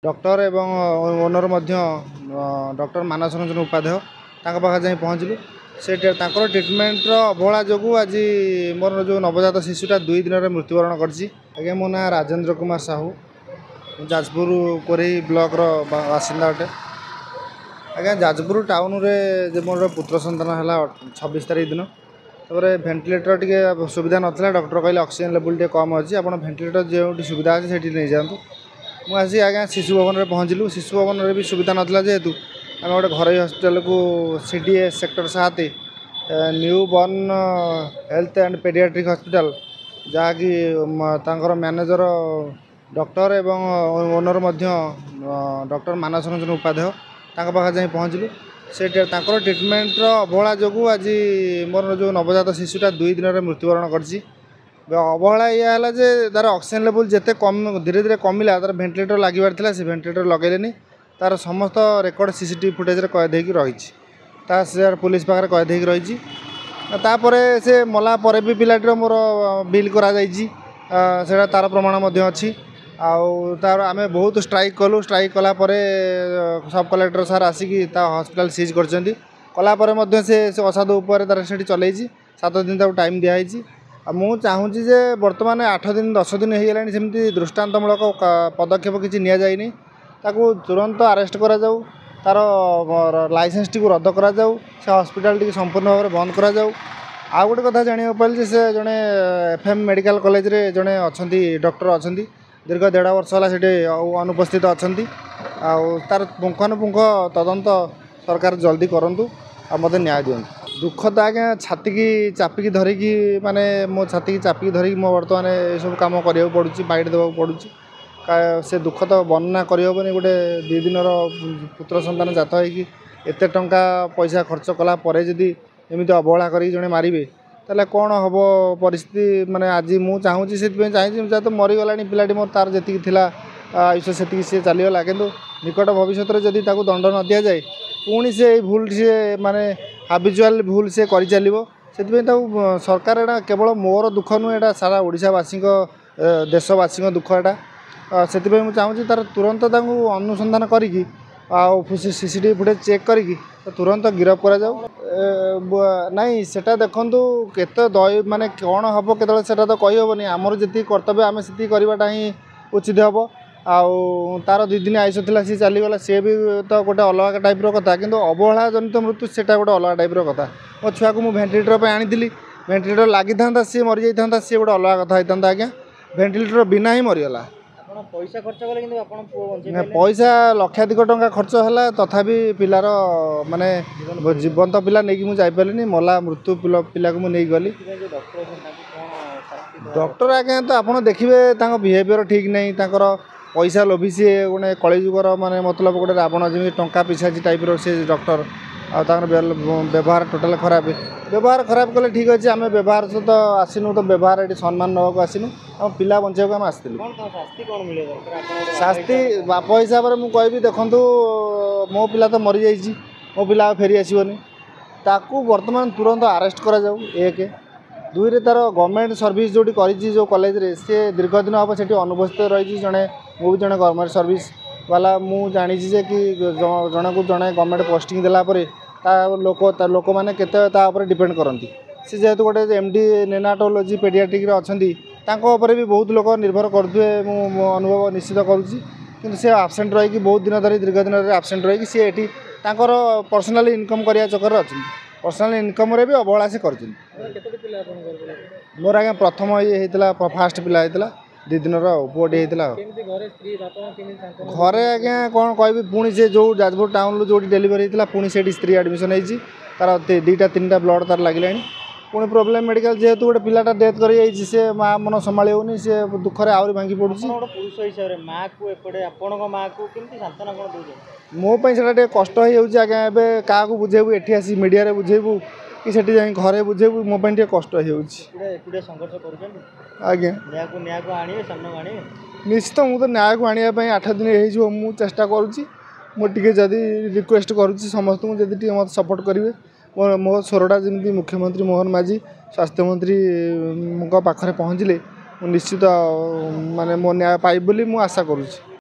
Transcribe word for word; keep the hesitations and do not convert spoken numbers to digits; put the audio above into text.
Doctor ଏବଂ owner ମଧ୍ୟ doctor Manas Ranjan Upadhyay, ତାଙ୍କ ପାଖରେ ଯାଇ ପହଞ୍ଚିଲୁ। ସେ ତାଙ୍କର ଟ୍ରିଟମେଣ୍ଟର ଅବହେଳା ଯୋଗୁଁ ଆଜି ମୋର ଯେଉଁ ନବଜାତ ଶିଶୁଟା ଦୁଇ ଦିନରେ ମୃତ୍ୟୁବରଣ କରିଛି। ଆଜ୍ଞା, ମୋ ନାଁ ରାଜେନ୍ଦ୍ର କୁମାର ସାହୁ, ମୁଁ ଯାଜପୁର କୋରେଇ ବ୍ଲକର ବାସିନ୍ଦା ଅଟେ। ଆଜ୍ଞା, ଯାଜପୁର ଟାଉନରେ ଯେ ମୋର ପୁତ୍ର ସନ୍ତାନ ହେଲା ଛବିଶ ତାରିଖ ଦିନ। ତାପରେ ଭେଣ୍ଟିଲେଟର ଟିକେ ସୁବିଧା ନଥିଲା। ଡକ୍ଟର କହିଲେ ଅକ୍ସିଜେନ୍ ଲେବୁଲ୍ ଟିକେ କମ୍ ଅଛି, ଆପଣ ଭେଣ୍ଟିଲେଟର ଯେଉଁଠି ସୁବିଧା ଅଛି ସେଇଠି ନେଇଯାଆନ୍ତୁ। ମୁଁ ଆସି ଆଜ୍ଞା ଶିଶୁ ଭବନରେ ପହଞ୍ଚିଲୁ। ଶିଶୁ ଭବନରେ ବି ସୁବିଧା ନଥିଲା ଯେହେତୁ ଆମେ ଗୋଟେ ଘରୋଇ ହସ୍ପିଟାଲକୁ, ସି ଡି ଏ ସେକ୍ଟର ସାତ, new burn health and paediatric hospital, ଯାହାକି ତାଙ୍କର ମ୍ୟାନେଜର ଡକ୍ଟର ଏବଂ ଓନର୍ ମଧ୍ୟ ଡକ୍ଟର ମାନସ ରଞ୍ଜନ ଉପାଧ୍ୟାୟ, ତାଙ୍କ ପାଖରେ ଯାଇ ପହଞ୍ଚିଲୁ। ସେ ତାଙ୍କର ଟ୍ରିଟମେଣ୍ଟର ଅବହେଳା ଯୋଗୁଁ ଆଜି ମୋର ଯେଉଁ ନବଜାତ ଶିଶୁଟା ଦୁଇ ଦିନରେ ମୃତ୍ୟୁବରଣ କରିଛି। ଅବହେଳା ଏଇଆ ହେଲା ଯେ ତା'ର ଅକ୍ସିଜେନ୍ ଲେବୁଲ୍ ଯେତେ କମ୍ ଧୀରେ ଧୀରେ କମିଲା, ତା'ର ଭେଣ୍ଟିଲେଟର ଲାଗିବାର ଥିଲା, ସେ ଭେଣ୍ଟିଲେଟର ଲଗାଇଲେନି। ତା'ର ସମସ୍ତ ରେକର୍ଡ଼ ସି ସି ଟି ଭି ଫୁଟେଜରେ କଏଦ ହେଇକି ରହିଛି, ତା ସେ ପୋଲିସ ପାଖରେ କଏଦ ହେଇକି ରହିଛି। ତାପରେ ସେ ମଲା ପରେ ବି ପିଲାଟିର ମୋର ବିଲ୍ କରାଯାଇଛି, ସେଇଟା ତା'ର ପ୍ରମାଣ ମଧ୍ୟ ଅଛି। ଆଉ ତା'ର ଆମେ ବହୁତ ଷ୍ଟ୍ରାଇକ୍ କଲୁ। ଷ୍ଟ୍ରାଇକ୍ କଲା ପରେ ସବ୍ କଲେକ୍ଟର ସାର୍ ଆସିକି ତା ହସ୍ପିଟାଲ ସିଜ୍ କରିଛନ୍ତି। କଲା ପରେ ମଧ୍ୟ ସେ ସେ ଅସାଧୁ ଉପରେ ତା'ର ସେଠି ଚଲେଇଛି। ସାତ ଦିନ ତାକୁ ଟାଇମ୍ ଦିଆହେଇଛି। ଆଉ ମୁଁ ଚାହୁଁଛି ଯେ ବର୍ତ୍ତମାନ ଆଠ ଦିନ ଦଶ ଦିନ ହେଇଗଲାଣି, ସେମିତି ଦୃଷ୍ଟାନ୍ତମୂଳକ ପଦକ୍ଷେପ କିଛି ନିଆଯାଇନି। ତାକୁ ତୁରନ୍ତ ଆରେଷ୍ଟ କରାଯାଉ, ତା'ର ଲାଇସେନ୍ସଟିକୁ ରଦ୍ଦ କରାଯାଉ, ସେ ହସ୍ପିଟାଲଟିକୁ ସମ୍ପୂର୍ଣ୍ଣ ଭାବରେ ବନ୍ଦ କରାଯାଉ। ଆଉ ଗୋଟେ କଥା ଜାଣିବାକୁ ପାଇଲି ଯେ ସେ ଜଣେ ଏଫ୍ ଏମ୍ ମେଡ଼ିକାଲ କଲେଜରେ ଜଣେ ଅଛନ୍ତି, ଡକ୍ଟର ଅଛନ୍ତି, ଦୀର୍ଘ ଦେଢ଼ ବର୍ଷ ହେଲା ସେଠି ଅନୁପସ୍ଥିତ ଅଛନ୍ତି। ଆଉ ତା'ର ପୁଙ୍ଖାନୁପୁଙ୍ଖ ତଦନ୍ତ ସରକାର ଜଲ୍ଦି କରନ୍ତୁ ଆଉ ମୋତେ ନ୍ୟାୟ ଦିଅନ୍ତୁ। ଦୁଃଖ ତ ଆଜ୍ଞା ଛାତିକି ଚାପିକି ଧରିକି, ମାନେ ମୋ ଛାତିକି ଚାପିକି ଧରିକି ମୋ ବର୍ତ୍ତମାନ ଏସବୁ କାମ କରିବାକୁ ପଡ଼ୁଛି, ବାଇଟ୍ ଦେବାକୁ ପଡ଼ୁଛି। ସେ ଦୁଃଖ ତ ବର୍ଣ୍ଣନା କରିହେବନି। ଗୋଟେ ଦୁଇ ଦିନର ପୁତ୍ର ସନ୍ତାନ ଜାତ ହେଇକି ଏତେ ଟଙ୍କା ପଇସା ଖର୍ଚ୍ଚ କଲା ପରେ ଯଦି ଏମିତି ଅବହେଳା କରିକି ଜଣେ ମାରିବେ, ତାହେଲେ କ'ଣ ହେବ ପରିସ୍ଥିତି? ମାନେ ଆଜି ମୁଁ ଚାହୁଁଛି, ସେଥିପାଇଁ ଚାହିଁଛି, ଯାହା ତ ମରିଗଲାଣି ପିଲାଟି ମୋର, ତା'ର ଯେତିକି ଥିଲା ଆୟୁଷ ସେତିକି ସିଏ ଚାଲିଗଲା। କିନ୍ତୁ ନିକଟ ଭବିଷ୍ୟତରେ ଯଦି ତାକୁ ଦଣ୍ଡ ନ ଦିଆଯାଏ, ପୁଣି ସେ ଏଇ ଭୁଲ ସିଏ ମାନେ ହାବିଚୁଆଲ ଭୁଲ ସିଏ କରିଚାଲିବ। ସେଥିପାଇଁ ତାକୁ ସରକାର, ଏଇଟା କେବଳ ମୋର ଦୁଃଖ ନୁହେଁ, ଏଇଟା ସାରା ଓଡ଼ିଶାବାସୀଙ୍କ, ଦେଶବାସୀଙ୍କ ଦୁଃଖ ଏଇଟା। ସେଥିପାଇଁ ମୁଁ ଚାହୁଁଛି ତା'ର ତୁରନ୍ତ ତାଙ୍କୁ ଅନୁସନ୍ଧାନ କରିକି ଆଉ C C T ଭି ଫୁଟେଜ୍ ଚେକ୍ କରିକି ତୁରନ୍ତ ଗିରଫ କରାଯାଉ। ନାଇଁ, ସେଟା ଦେଖନ୍ତୁ, କେତେ ଦୟ ମାନେ କ'ଣ ହେବ କେତେବେଳେ ସେଟା ତ କହିହେବନି। ଆମର ଯେତିକି କର୍ତ୍ତବ୍ୟ ଆମେ ସେତିକି କରିବାଟା ହିଁ ଉଚିତ ହେବ। ଆଉ ତା'ର ଦୁଇ ଦିନ ଆୟୁଷ ଥିଲା, ସିଏ ଚାଲିଗଲା, ସିଏ ବି ତ ଗୋଟେ ଅଲଗା ଟାଇପ୍ର କଥା, କିନ୍ତୁ ଅବହେଳା ଜନିତ ମୃତ୍ୟୁ ସେଇଟା ଗୋଟେ ଅଲଗା ଟାଇପ୍ର କଥା। ମୋ ଛୁଆକୁ ମୁଁ ଭେଣ୍ଟିଲେଟର ପାଇଁ ଆଣିଥିଲି, ଭେଣ୍ଟିଲେଟର ଲାଗିଥାନ୍ତା ସିଏ ମରିଯାଇଥାନ୍ତା, ସିଏ ଗୋଟେ ଅଲଗା କଥା ହେଇଥାନ୍ତା। ଆଜ୍ଞା, ଭେଣ୍ଟିଲେଟର ବିନା ହିଁ ମରିଗଲା। ପଇସା ଖର୍ଚ୍ଚ କଲେ କିନ୍ତୁ ଆପଣ ପୁଅ ବଞ୍ଚେଇ, ପଇସା ଲକ୍ଷାଧିକ ଟଙ୍କା ଖର୍ଚ୍ଚ ହେଲା, ତଥାପି ପିଲାର ମାନେ ଜୀବନ୍ତ ପିଲା ନେଇକି ମୁଁ ଯାଇପାରିଲିନି। ମଲା ମୃତ୍ୟୁ ପିଲାକୁ ମୁଁ ନେଇକି ଗଲି। ଡକ୍ଟର ଆଜ୍ଞା ତ ଆପଣ ଦେଖିବେ, ତାଙ୍କ ବିହେଭିଅର ଠିକ୍ ନାହିଁ। ତାଙ୍କର ପଇସା ଲୋଭି ସିଏ, ଗୋଟେ କଳିଯୁଗର ମାନେ ମତଲବ ଗୋଟେ ରାବଣ ଯେମିତି ଟଙ୍କା ପିସାଚି ଟାଇପ୍ର ସେ ଡକ୍ଟର। ଆଉ ତାଙ୍କର ବ୍ୟବହାର ଟୋଟାଲ୍ ଖରାପ। ବ୍ୟବହାର ଖରାପ କଲେ ଠିକ୍ ଅଛି, ଆମେ ବ୍ୟବହାର ସହିତ ଆସିନୁ ତ, ବ୍ୟବହାର ଏଠି ସମ୍ମାନ ନେବାକୁ ଆସିନୁ, ଆମ ପିଲା ବଞ୍ଚାଇବାକୁ ଆମେ ଆସିଥିଲୁ। ଶାସ୍ତି ବାପ ହିସାବରେ ମୁଁ କହିବି, ଦେଖନ୍ତୁ, ମୋ ପିଲା ତ ମରିଯାଇଛି, ମୋ ପିଲା ଆଉ ଫେରି ଆସିବନି। ତାକୁ ବର୍ତ୍ତମାନ ତୁରନ୍ତ ଆରେଷ୍ଟ କରାଯାଉ ଏକ। ଦୁଇରେ ତା'ର ଗଭର୍ଣ୍ଣମେଣ୍ଟ ସର୍ଭିସ୍ ଯେଉଁଠି କରିଛି, ଯେଉଁ କଲେଜରେ, ସିଏ ଦୀର୍ଘ ଦିନ ହେବ ସେଠି ଅନୁପସ୍ଥିତ ରହିଛି। ଜଣେ ମୁଁ ବି ଜଣେ ଗଭର୍ଣ୍ଣମେଣ୍ଟ ସର୍ଭିସ୍ ବାଲା, ମୁଁ ଜାଣିଛି ଯେ କି ଜଣକୁ ଜଣେ ଗଭର୍ଣ୍ଣମେଣ୍ଟ ପୋଷ୍ଟିଂ ଦେଲା ପରେ ତା ଲୋକ ତା ଲୋକମାନେ କେତେ ତା ଉପରେ ଡିପେଣ୍ଡ କରନ୍ତି। ସେ ଯେହେତୁ ଗୋଟେ ଏମ୍ ଡି ନେନାଟୋଲୋଜି ପେଡ଼ିଆଟ୍ରିକ୍ରେ ଅଛନ୍ତି, ତାଙ୍କ ଉପରେ ବି ବହୁତ ଲୋକ ନିର୍ଭର କରୁଥିବେ, ମୁଁ ଅନୁଭବ ନିଶ୍ଚିତ କରୁଛି। କିନ୍ତୁ ସେ ଆବସେଣ୍ଟ ରହିକି ବହୁତ ଦିନ ଧରି, ଦୀର୍ଘ ଦିନ ଧରି ଆବସେଣ୍ଟ ରହିକି ସିଏ ଏଠି ତାଙ୍କର ପର୍ସନାଲି ଇନକମ୍ କରିବା ଚକରରେ ଅଛନ୍ତି। ପର୍ସନାଲ ଇନକମ୍ରେ ବି ଅବହେଳା ସେ କରିଛନ୍ତି। ମୋର ଆଜ୍ଞା ପ୍ରଥମ ଇଏ ହେଇଥିଲା, ଫାଷ୍ଟ ପିଲା ହେଇଥିଲା, ଦୁଇ ଦିନର ଆଉ ପୁଅଟି ହେଇଥିଲା। ଆଉ ଘରେ ଆଜ୍ଞା କ'ଣ କହିବି? ପୁଣି ସେ ଯେଉଁ ଯାଜପୁର ଟାଉନରୁ ଯେଉଁଠି ଡେଲିଭରି ହେଇଥିଲା, ପୁଣି ସେଇଠି ସ୍ତ୍ରୀ ଆଡ଼ମିସନ୍ ହେଇଛି। ତା'ର ଦୁଇଟା ତିନିଟା ବ୍ଲଡ଼ ତା'ର ଲାଗିଲାଣି। ପୁଣି ପ୍ରୋବ୍ଲେମ୍ ମେଡ଼ିକାଲ, ଯେହେତୁ ଗୋଟେ ପିଲାଟା ଡେଥ୍ କରିଯାଇଛି, ସେ ମା ମନ ସମ୍ଭାଳି ହେଉନି, ସେ ଦୁଃଖରେ ଆହୁରି ଭାଙ୍ଗି ପଡ଼ୁଛି। ଗୋଟେ ପୁରୁଷ ହିସାବରେ ମାଆକୁ, ଏପଟେ ଆପଣଙ୍କ ମାଆକୁ କେମିତି ସାନ୍ତ୍ୱନା କ'ଣ ଦେଉଛନ୍ତି? ମୋ ପାଇଁ ସେଇଟା ଟିକେ କଷ୍ଟ ହେଇଯାଉଛି ଆଜ୍ଞା। ଏବେ କାହାକୁ ବୁଝେଇବୁ? ଏଠି ଆସି ମିଡ଼ିଆରେ ବୁଝେଇବୁ କି ସେଠି ଯାଇ ଘରେ ବୁଝେଇବୁ? ମୋ ପାଇଁ ଟିକେ କଷ୍ଟ ହେଇଯାଉଛି। ଏକୁଟିଆ ସଂଘର୍ଷ କରୁଛନ୍ତି ଆଜ୍ଞା। ନ୍ୟାୟକୁ ନ୍ୟାୟକୁ ଆଣିବେ, ସାମ୍ନାକୁ ଆଣିବେ ନିଶ୍ଚିତ। ମୁଁ ତ ନ୍ୟାୟକୁ ଆଣିବା ପାଇଁ ଆଠ ଦିନ ହେଇଯିବ ମୁଁ ଚେଷ୍ଟା କରୁଛି। ମୁଁ ଟିକେ ଯଦି ରିକ୍ୱେଷ୍ଟ କରୁଛି ସମସ୍ତଙ୍କୁ, ଯଦି ଟିକେ ମୋତେ ସପୋର୍ଟ କରିବେ, ମୋ ମୋ ସ୍ୱରଟା ଯେମିତି ମୁଖ୍ୟମନ୍ତ୍ରୀ ମୋହନ ମାଝୀ, ସ୍ୱାସ୍ଥ୍ୟମନ୍ତ୍ରୀଙ୍କ ପାଖରେ ପହଞ୍ଚିଲେ ମୁଁ ନିଶ୍ଚିତ ମାନେ ମୋ ନ୍ୟାୟ ପାଇବି ବୋଲି ମୁଁ ଆଶା କରୁଛି।